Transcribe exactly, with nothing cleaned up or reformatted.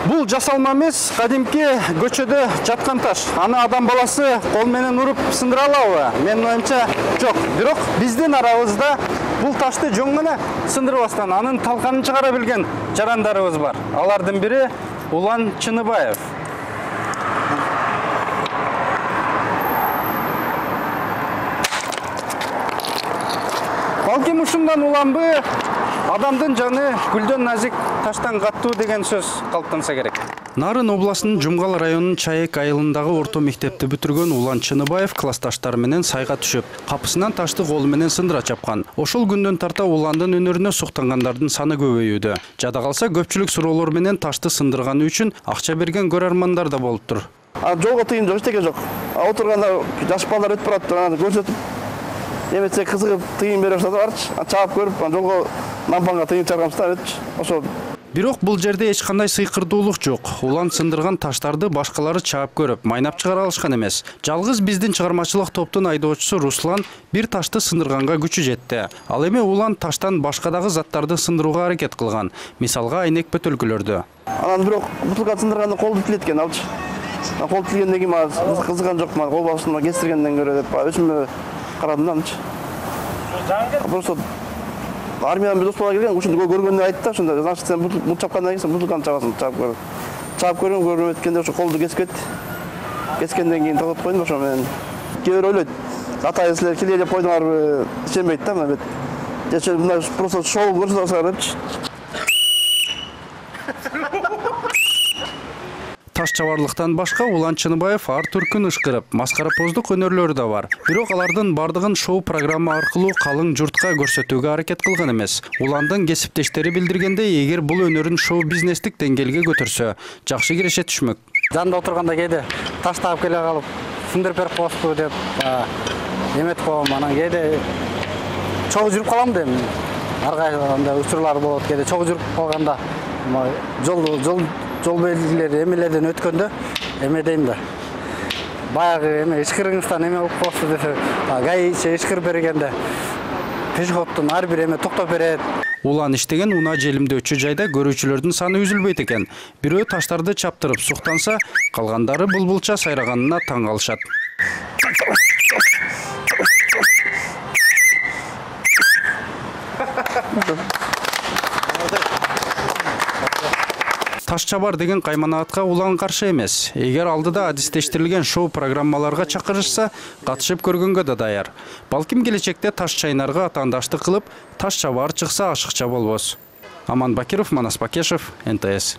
Бул жасалма эмес, кадимки көчөдө жаткан таш. Аны адам баласы кол менен уруп сындыра алабы? Менин оюмча жок. Бирок биздин арабызда бул ташты жөн гана сындырбастан анын талканын чыгара билген жарандарыбыз бар. Алардын бири Улан Чыныбаев. Балким ушундан уланбы, адамдын жаны гүлдөн назик, таштан каттуу деген сөз калыптанса керек. Нарын областынын Жумгал районунун Чайек айылындагы орто мектепти бүтүргөн Улан Чыныбаев классташтары менен сайга түшүп, капысынан ташты колу менен сындыра чапкан. Ошол күндөн тарта Уландын өнөрүнө суктангандардын саны көбөйүүдө. Жада калса көпчүлүк суроолор менен ташты сындырганы үчүн акча берген көрөрмандар да болуптур. Жолго тыйын жок, эчтеке жок. Отурганда жаш балдар өтүп барат, аны көрсөтүп, эметсе кызыгып тыйын берип жатат, чаап көрүп, жолго нампанга тыйын чыгарганбыз да, ошол. Бирок бул жерде эч кандай сыйкырдуулук жок. Улан сындырган таштарды башкалары чаап көрүп, майнап чыгара алышкан эмес. Жалгыз биздин чыгармачылык топтун айдоочусу Руслан бир ташты сындырганга күчү жетти. Ал эми Улан таштан башка дагы заттарды сындырууга аракет кылган. Мисалга айнек бөтөлкөлөрдү. Анан бирок бутылка сындырганда колду тилет экен алчы. Кол тилгенден кийин мага кызыган жок, мага кол башына кестиргенден көрө деп өзүмө карадым да анчы. Просто армиядан бир дос бала келген, ушуну көргөндө айтты да, ошондо значит сен бул чапкандан кийин сен бутылканы чабасың, чаап көр. Чаап көрүм, көрүп өткөндө ошо колду кесип кетти. Кескенден кийин тотоп койдум ошо менен. Кээ бир ойлойт, атай силер киле деп койдуңарбы, ишенбейт да мына бет. Же мына просто шоу көрсөтөсүңөр депчи. Таш чабарлыктан башка Улан Чыныбаев ар түркүн ышкырып, маскарапоздук өнөрлөрү да бар. Бирок алардын бардыгын шоу программа аркылуу калың журтка көрсөтүүгө аракет кылган эмес. Уландын кесиптештери билдиргендей, эгер бул өнөрүн шоу бизнестик деңгээлге көтөрсө, жакшы киреше түшмөк. Жанында отурганда кээде таш таап келе калып, сындырып берип коесузбу деп эметип коем. Анан кээде чогуу жүрүп калам дейм. Ар кайда учурлар болот, кээде чогуу жүрүп калганда жол жол жол белгилери эмелерден өткөндө эме дейм да. Баягы эме ышкырыңыздан эме болуп калса десе, гаиши ышкырып бергенде пешеходдун ар бир эме токтоп берет. Улан иштеген унаа желимдөөчү жайда көрүүчүлөрдүн саны үзүлбөйт экен. Бирөө таштарды чаптырып суктанса, калгандары булбулча сайраганына таң калышат. Таш чабар деген кайманаатка Улан каршы эмес. Эгер алдыда адистештирилген шоу программаларга чакырышса, катышып көргөнгө да даяр. Балким келечекте таш чайнарга атаандаштык кылып, таш чабар чыкса ашыкча болбос. Аман Бакиров, Манас Бакешев, эн тэ эс.